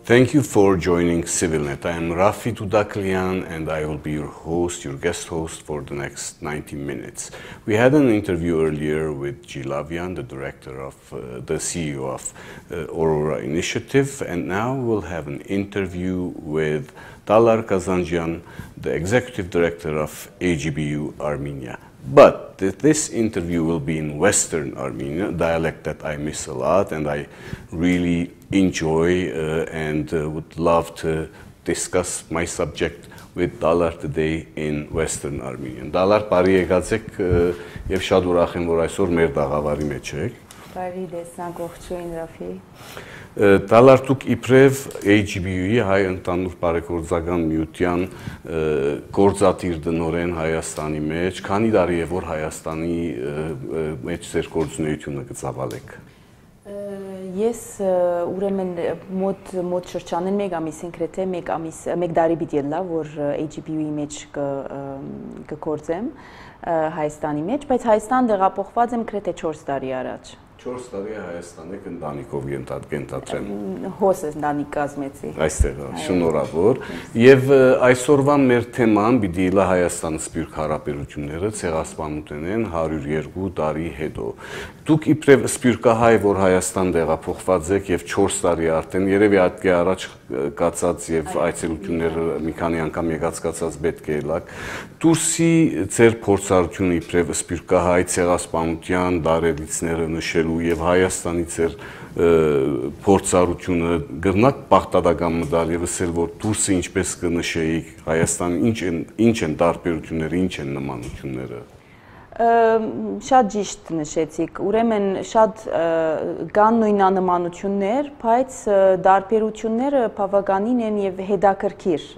Thank you for joining CivilNet. I am Rafi Tudaklian and I will be your host, your guest host for the next 90 minutes. We had an interview earlier with G. Lavian, the director of, the CEO of Aurora Initiative, and now we'll have an interview with Talar Kazanjian, the executive director of AGBU Armenia. But this interview will be in Western Armenia, dialect that I miss a lot and I really enjoy and would love to discuss my subject with Talar today in Western Armenian. Talar, բարի եկացեք եւ շատ ուրախ եմ, որ այսօր մեր դաղավարի մեջ եք։ Բարի տեսանք, ողջույն Ռաֆի։ Talar, դուք իբրև AGBU-ի հայ ընդհանուր բարեգործական միության գործադիր դնորեն Հայաստանի մեջ, քանի տարի է որ Հայաստանի մեջ ձեր գործունեությունը կծավալեք։ Ես ուրեմն մոտ շրջանին մեկ ամիսին գրեթե մեկ տարի պիտի լա, որ AGBU-ի մեջ կգործեմ Հայաստանի մեջ, բայց Հայաստան տեղափոխված եմ գրեթե 4 տարի առաջ։ 4 տարի Հայաստան եք ընտանիքով ենթադրեմ։ Հոսս ընտանիք կազմեցի։ Այստեղ, շնորհավոր։ Եվ այսօրվա մեր թեման պիտի լա Հայաստան Սփյուռք հարաբերությունները ցեղասպանության 102 տարի հետո։ Դուք իբրև սփյուռքահայ, որ Հայաստան տեղափոխված եք եւ 4 տարի արդեն երևի այդքի առաջ կացած եւ այցելությունները մի քանի անգամ եկած պետք է լակ։ Դուրսի ձեր փորձառությունը իբրև սփյուռքահայ ցեղասպանության դարերիցները նշելու եւ Հայաստանի ձեր փորձառությունը գրնակ պարտադական մտալ եւ ասել որ դուրսը ինչպես կնշեիք Հայաստանի ինչ են տարբերությունները, ինչ են նմանությունները։ Շատ ճիշտ նշեցիք, ուրեմն շատ կան նույնանմանություններ, բայց տարբերությունները բավականին են եւ հետաքրքիր,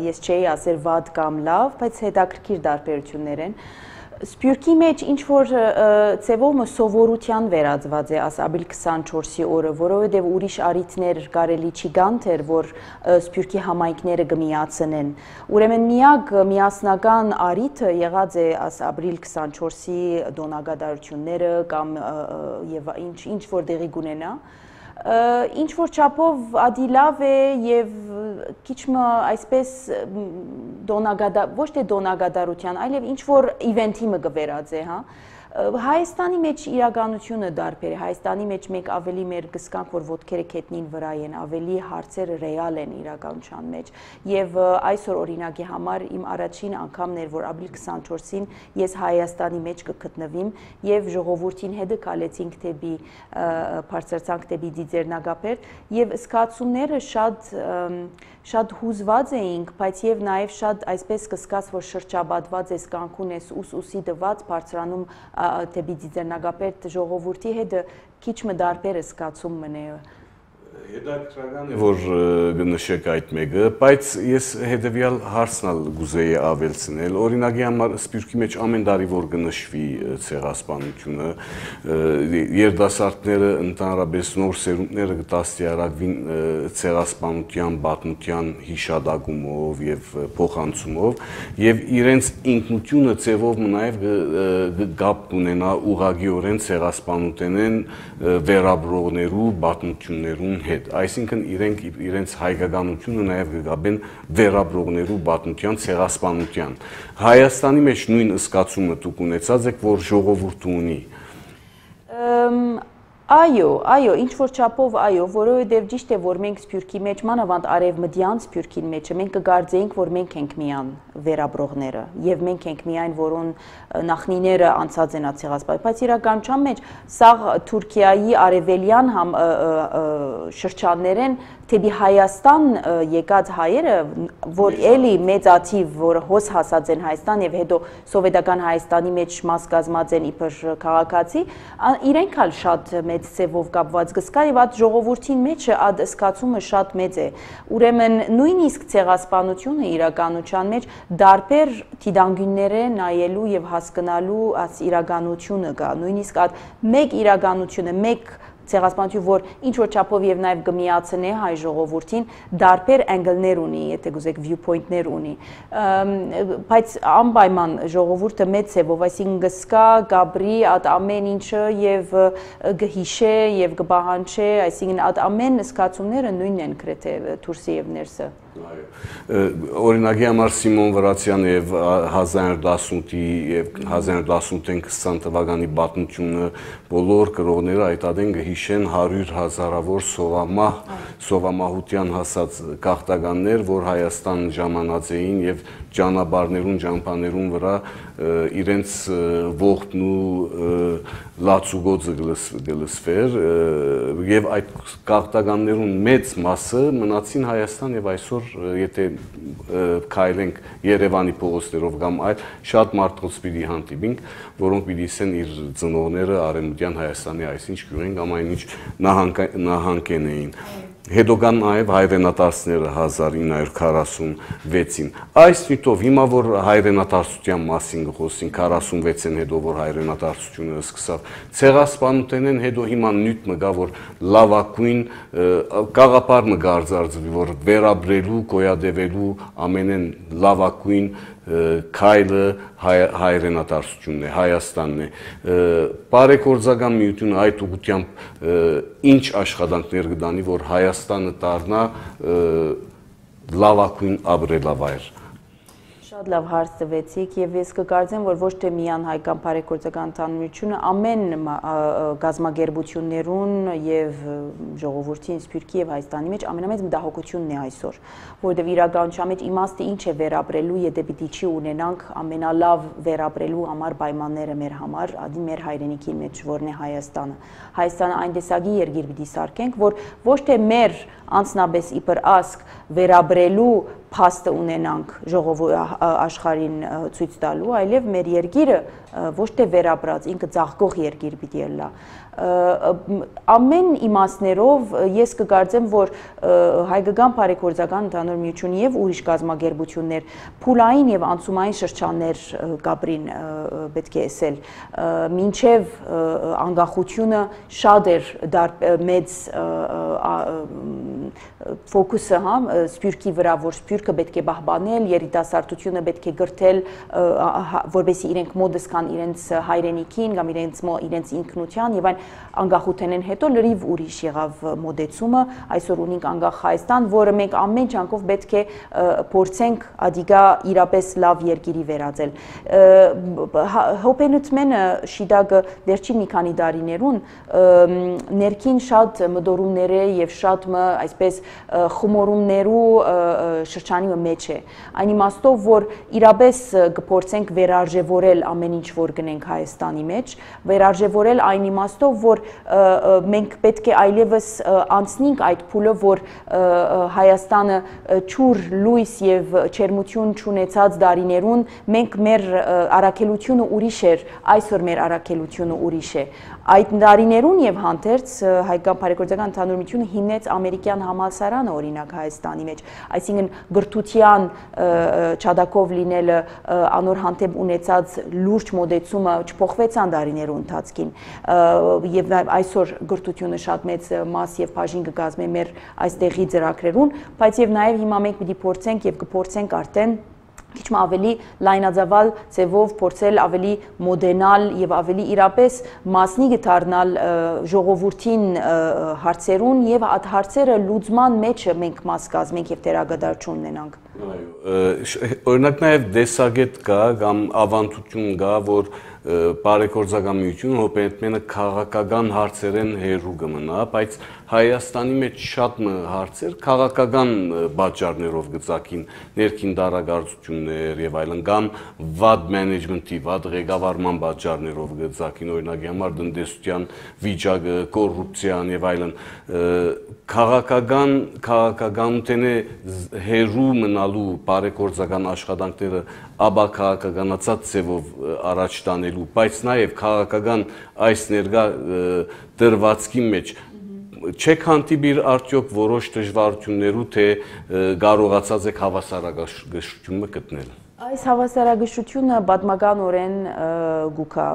ես չէի ասել վատ կամ լավ, բայց հետաքրքիր տարբերություններ են։ Սփյուռքի մեջ ինչ որ ծևով սովորության վերածված է ասաբիլ 24-ի օրը, որովհետև ուրիշ առիթներ կարելի չի գան թեր, որ Սփյուռքի համայնքները կմիացնեն։ Ուրեմն միակ միասնական առիթը եղած է ասաբիլ 24-ի դոնագադարությունները կամ եւ ինչ որ դեղի կունենա։ Ինչ որ չափով ադիլավ է եւ քիչմը այսպես ոչ թե դոնագադարության, այլև ինչ որ իվենթի մը գվերած է, հա։ Հայաստանի մեջ իրականությունը դարբեր է, Հայաստանի մեջ մենք ավելի մեր գսկանք, որ ոտքերը քետնին վրա են, ավելի հարցերը ռեալ են իրականության մեջ եւ այսօր օրինակի համար իմ առաջին անգամն էր, որ ապրիլ 24-ին ես Հայաստանի մեջ կգտնվեմ եւ ժողովրդին հետ կալեցինք դեպի բարձրացանք դեպի Դիձերնագապեր եւ սկացումները շատ հուզված էինք, բայց եւ նաեւ շատ այսպես կսկաց, որ շրջաբադված ես կանքուն ես ուսի դված բարձրանում դեպի Դիձերնագապեր ժողովրդի հետ քիչ մը դարբեր է սկացում մնե։ Հետաքրքրական է, որ գնշեք այդ մեկը, բայց ես հետևյալ հարցնալ գուզեի ավելցնել, օրինակի համար Սփյուռքի մեջ ամեն տարի որ գնշվի ցեղասպանությունը, երիտասարդները ընդհանրապես նոր սերունդները կդաստիարակվին ցեղասպանության, պատմության հիշադակումով եւ փոխանցումով եւ իրենց ինքնությունը ծևով նաեւ գապ ունենա ուղղակիորեն ցեղասպանութենեն վերաբրողներու պատմություններուն հետ, այսինքն իրենց հայկականությունը նաև կգաբեն վերաբրողներու պատմության, ցեղասպանության։ Հայաստանի մեջ նույն զգացումը դուք ունեցած եք, որ ժողովուրդը ունի։ Այո, ինչ որ չափով այո, որովհետև ճիշտ է, որ մենք Սփյուռքի մեջ, մանավանդ արևմտյան Սփյուռքի մեջ, մենք կգարձեինք, որ մենք ենք միան վերաբրողները, եւ մենք ենք միայն, որոն նախնիները անցած են ցեղասպանություն, բայց իրականության մեջ սա Թուրքիայի արևելյան շրջաններեն թեպի Հայաստան եկած հայերը, որ էլի մեծաթիվ, որ հոս հասած են Հայաստան եւ հետո սովետական Հայաստանի մեջ մաս կազմած են իբր քաղաքացի, իրենք ալ շատ մեծ ծևով կապված գսկա եւ այդ ժողովրդին մեջ այդ սկացումը շատ մեծ է։ Ուրեմն նույնիսկ ցեղասպանությունը իրականության մեջ դարբեր դիտանկյունները նայելու եւ հասկանալու այս իրականությունը կա, նույնիսկ այդ մեկ իրականությունը, մեկ ցեղասպանություն, որ ինչ որ չափով եւ նաեւ կմիացնի հայ ժողովրդին, դարբեր անգլներ ունի, եթե գուզեք viewpoint-ներ ունի։ Բայց անպայման ժողովուրդը մեծ է, ով այսինքն գսկա, գաբրի այդ ամեն ինչը եւ գհիշե եւ գբահանչե, այսինքն այդ ամեն զգացումները նույնն են գրեթե դուրսի եւ ներսը։ Օրինակի համար Սիմոն Վրացյանը եւ 1918-ի եւ 1918-ին 20 թվականի պատմությունը բոլոր գրողները այդտեղեն գհիշեն 100,000-ավոր սովամահության հասած գաղթականներ, որ Հայաստան ժամանած էին եւ ճանապարհներուն, ճամփաներուն վրա իրենց ողբն ու լացուգոծը գլսվեր եւ այդ գաղթականներուն մեծ մասը մնացին Հայաստան եւ այսօր եթե քայլենք Երևանի փողոցներով կամ այլ շատ մարդկանց պիտի հանդիպենք, որոնք պիտի ասեն իր ծնողները Արևմտյան Հայաստանի այսինչ գյուղեն կամ այնինչ նահանգեն էին։ Հետո կան նաև հայրենադարձները 1946-ին։ Այս նյութով հիմա որ հայրենադարձության մասին խոսին 46-ին հետո որ հայրենադարձությունը սկսավ, ցեղասպանութենեն հետո հիմա նյութ մգա որ լավակույն գաղափար մգա արձարծվի որ վերաբրելու, գոյադևելու ամենեն լավակույն քայլը հայրենադարձությունն է, Հայաստանն է։ Բարեգործական միությունը այդ ուղղությամբ ինչ աշխատանքներ կդանի, որ Հայաստանը դառնա լավակույն ապրելավայր։ Շատ լավ հարց տվեցիք եւ ես կկարծեմ, որ ոչ թե միայն հայկական բարեգործական ընդհանրությունը, ամեն գազագերբություններուն եւ ժողովրդին Սփյուռքի եւ Հայաստանի մեջ ամենամեծ մտահոգությունն է այսօր, որովհետեւ իրականության մեջ իմաստը ինչ է վերապրելու, եթե պիտի չի ունենանք ամենալավ վերապրելու համար պայմանները մեր համար, ադի մեր հայրենիքի մեջ, որն է Հայաստանը։ Հայաստանը այն տեսակի երկիր պիտի սարքենք, որ ոչ թե մեր անձնապես իբր ասկ վերաբրելու փաստը ունենանք աշխարհին ցույց տալու, այլև մեր երկիրը ոչ թե վերապրած, ինքը ծաղկող երկիր պիտի լա։ Ամեն իմաստներով ես կկարծեմ, որ հայկական բարեգործական ընդհանուր միություն եւ ուրիշ գազագերբություններ փուլային եւ անցումային շրջաններ կապրին պետք է ասել, մինչեւ անկախությունը շատ էր մեծ ֆոկուսը Սփյուռքի վրա, որ Սփյուռքը պետք է պահպանել, երիտասարդությունը պետք է գրթել, որովհետեւ իրենք մոդս կան իրենց հայրենիքին կամ իրենց ինքնության եւ այն անկախութենեն հետո լրիվ ուրիշ եղավ մոդեցումը, այսօր ունենք անկախ Հայաստան, որը մենք ամեն ջանքով պետք է փորձենք ադիգա իրապես լավ երկիրի վերածել։ Հոպենուտմենը շիդագը վերջին մի քանի տարիներուն ներքին շատ մտորումներ է եւ շատ այսպես խմորումներու շրջանի մեջ է։ Այն իմաստով, որ իրապես կփորձենք վերարժևորել ամեն ինչ, որ գնենք Հայաստանի մեջ, վերարժևորել այն իմաստով, որ մենք պետք է այլևս անցնենք այդ փուլը, որ Հայաստանը ճուր լույս եւ չերմություն չունեցած դարիներուն մենք մեր առաքելությունը ուրիշ էր, այսօր մեր առաքելությունը ուրիշ է։ Այդ դարիներուն եւ հանդերձ հայկական բարեգործական ընդհանուր միությունը հիմնեց ամերիկյան համալսարանը օրինակ Հայաստանի մեջ, այսինքն գրթության չադակով լինելը անոր հանդեպ ունեցած լուրջ մոդեցումը չփոխվեցան դարիներու ընթացքին եւ այսօր գրթությունը շատ մեծ մաս եւ բաժին կկազմի մեր այստեղի ծրագրերուն, բայց եւ նաեւ հիմա մենք պիտի փորձենք եւ կփորձենք արդեն քիչ ավելի լայնածավալ ձևով փորձել ավելի մոդենալ եւ ավելի իրապես մասնիկ դառնալ ժողովրդին հարցերուն եւ այդ հարցերը լուծման մեջ մենք մաս կազմենք եւ դերակատարություն ունենանք։ Օրինակ նաեւ դեսագետ կա կամ ավանդություն կա, որ բարեգործական միությունը հոպենտմենը քաղաքական հարցերեն հերու կմնա, բայց Հայաստանի մեջ շատ հարցեր քաղաքական պատճառներով գծակին, ներքին դարագործություններ եւ այլն, կամ վատ մենեջմենթի, վատ ղեկավարման պատճառներով գծակին, օրինակի համար տնտեսության վիճակը, կոռուպցիան եւ այլն, քաղաքականութենե հերու մնալու բարեգործական աշխատանքները ապա քաղաքականացած ձևով առաջ տանելու, բայց նաեւ քաղաքական այս ներկա դրվածքի մեջ չեք հանդիպիր արդյոք որոշ դժվարություններու, թե կարողացած եք հավասարակշռությունը գտնել։ Այս հավասարակշռությունը պատմականորեն գուքա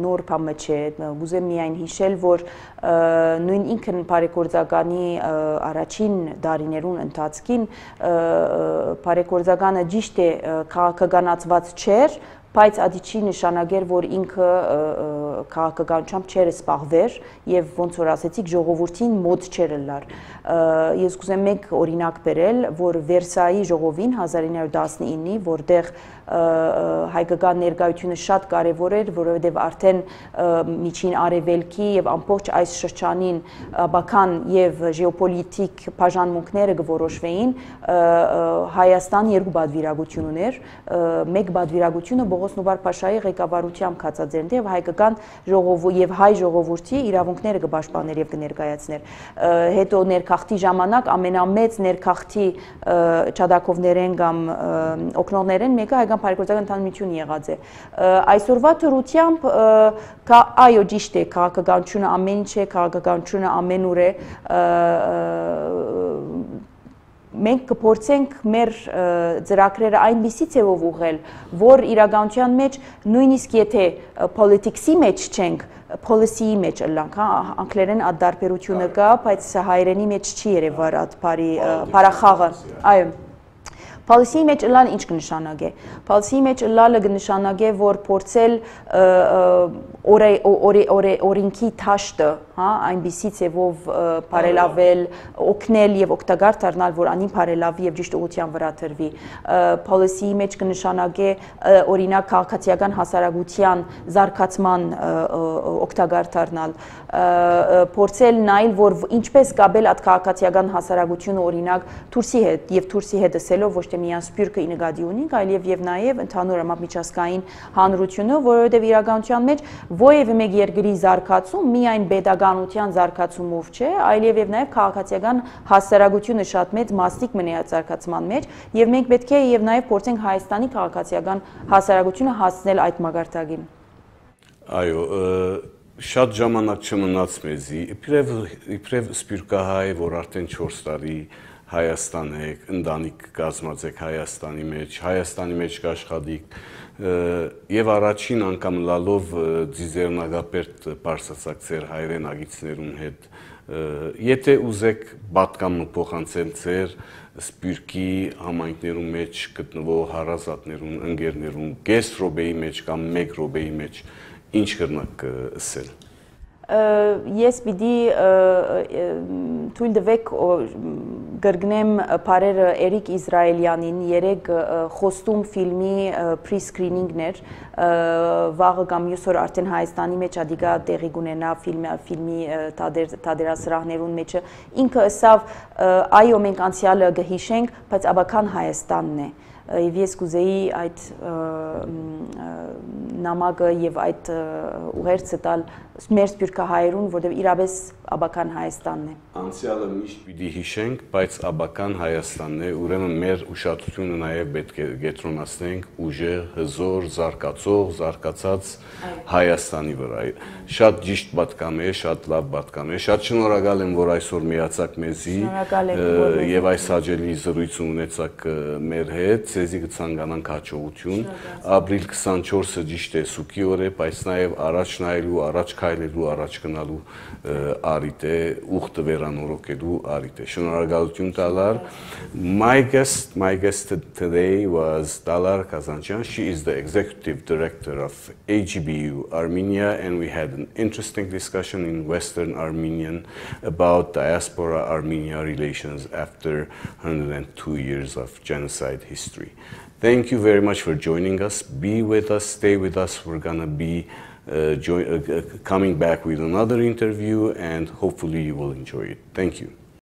նոր բան չէ, ուզեմ միայն հիշել, որ նույն ինքն բարեգործականի առաջին դարիներուն ընթացքին բարեգործականը ճիշտ է քաղաքականացված չէր, բայց ադիչի նշանակեր, որ ինքը քաղաքականությամբ չէր սպաղվեր եւ ոնց որ ասեցիք ժողովրդին մոտ չէր լար։ Ես կուզեմ մեկ օրինակ բերել, որ Վերսայի ժողովին 1919-ի, որտեղ հայկական ներկայությունը շատ կարևոր էր, որովհետև արդեն միջին արևելքի եւ ամբողջ այս շրջանին բական եւ ժեոպոլիտիկ բաժանմունքները կորոշվեին, Հայաստան երկու պատվիրակություն ուներ, մեկ պատվիրակությունը Բողոս Նուբար-Փաշայի ղեկավարությամբ կացած եւ հայկական ժողովուրդ եւ հայ ժողովրդի իրավունքները կպաշտպաներ եւ կներկայացներ։ Հետո ներքախտի ժամանակ ամենամեծ ներքախտի չադակովներեն կամ օկնողներեն մեկը հայկական բարեգործական ընդհանրություն եղած է։ Այսօրվա թրությամբ այո ճիշտ է, քաղաքականությունը ամեն ինչ է, քաղաքականությունը ամենուր է, մենք կփորձենք մեր ծրագրերը այնպիսի ձևով ուղղել, որ իրականության մեջ նույնիսկ եթե politics-ի մեջ չենք, policy-ի մեջ ըլլանք, անգլերեն այդ տարբերությունը կա, բայց հայերենի մեջ չի երևար այդ բարախաղը, այո։ Policy-ի մեջ ըլլալ ինչ կնշանակե։ Policy-ի մեջ ըլլալը կնշանակե, որ փորձել օրենքի թաշտը, այնպիսի ձևով բարելավել, օգնել եւ օգտակար դառնալ, որ անին բարելավի եւ ճիշտ ուղղության վրա դրվի։ Policy-ի մեջ կնշանակե օրինակ քաղաքացիական հասարակության զարգացման օգտակար դառնալ, փորձել նայել, որ ինչպես կապել այդ քաղաքացիական հասարակությունը օրինակ Թուրքիի հետ եւ Թուրքիի հետ ասելով ոչ թե միայն սպյուրքը ինգադի ունենք, այլև եւ նաեւ ընդհանուր միջազգային հանրությունը, որովհետեւ իրականության մեջ ովևէ մեկ երկրի զարգացում միայն պետականության զարգացումով չէ, այլև եւ նաեւ քաղաքացիական հասարակությունը շատ մեծ մասնիկ մնի այդ զարգացման մեջ, եւ մենք պետք է եւ նաեւ փորձենք Հայաստանի քաղաքացիական հասարակությունը հասնել այդ մակարդակին։ Այո, շատ ժամանակ չմնաց մեզի, իբրև սպյուրքահայ, որ արդեն 4 տարի Հայաստան եք, ընտանիք կազմած եք Հայաստանի մեջ կաշխատիք եւ առաջին անգամ լալով ձիզերնագապերտ պարսացակ ձեր հայրեն ագիցներուն հետ եթե ուզեք պատկամը փոխանցել ձեր սպյուրքի համայնքներում մեջ գտնվող հարազատներուն, ընկերներուն, կես րոպեի մեջ կամ 1 րոպեի մեջ ինչ կրնակ ասել։ Ես պիտի թույլ տվեք գրգնեմ բարերը Էրիկ Իսրայելյանին երեք խոստում ֆիլմի pre-screening-ներ վաղը կամ մյուս օր արդեն Հայաստանի մեջ ադիգա տեղի կունենա ֆիլմի թատերասրահներուն մեջը ինքը ասավ այո մենք անցյալը կհիշենք, բայց աբական Հայաստանն է։ Եվ ես կուզեի այդ նամակը եւ այդ ուղերձը տալ մեր սպյուրքահայերուն, որտեղ իրապես աբական Հայաստանն է։ Անցյալը միշտ պիտի հիշենք, բայց աբական Հայաստանն է, ուրեմն մեր ուշադրությունը նաեւ պետք է կենտրոնացնենք ուժեղ, հզոր, զարգացած Հայաստանի վրա։ Շատ ճիշտ պատկամ է, շատ լավ պատկամ է։ Շատ շնորհակալ եմ, որ այսօր միացաք մեզի եւ այս հաջելի զրույցը ունեցաք մեր հետ։ Ձեզի կցանկանանք հաջողություն։ Ապրիլ 24-ը ճիշտ է սուքի օր է, բայց նաեւ առաջ նայելու, առաջ քայլելու, առաջ գնալու արիտ է, ուխտը վերանորոգելու արիտ է։ Շնորհակալություն Տալար։ My guest today was Talar Kazanjan. She is the executive director of AGBU Armenia, and we had an interesting discussion in Western Armenian about diaspora-Armenia relations after 102 years of genocide history. Thank you very much for joining us. Be with us, stay with us. We're gonna be coming back with another interview, and hopefully you will enjoy it. Thank you.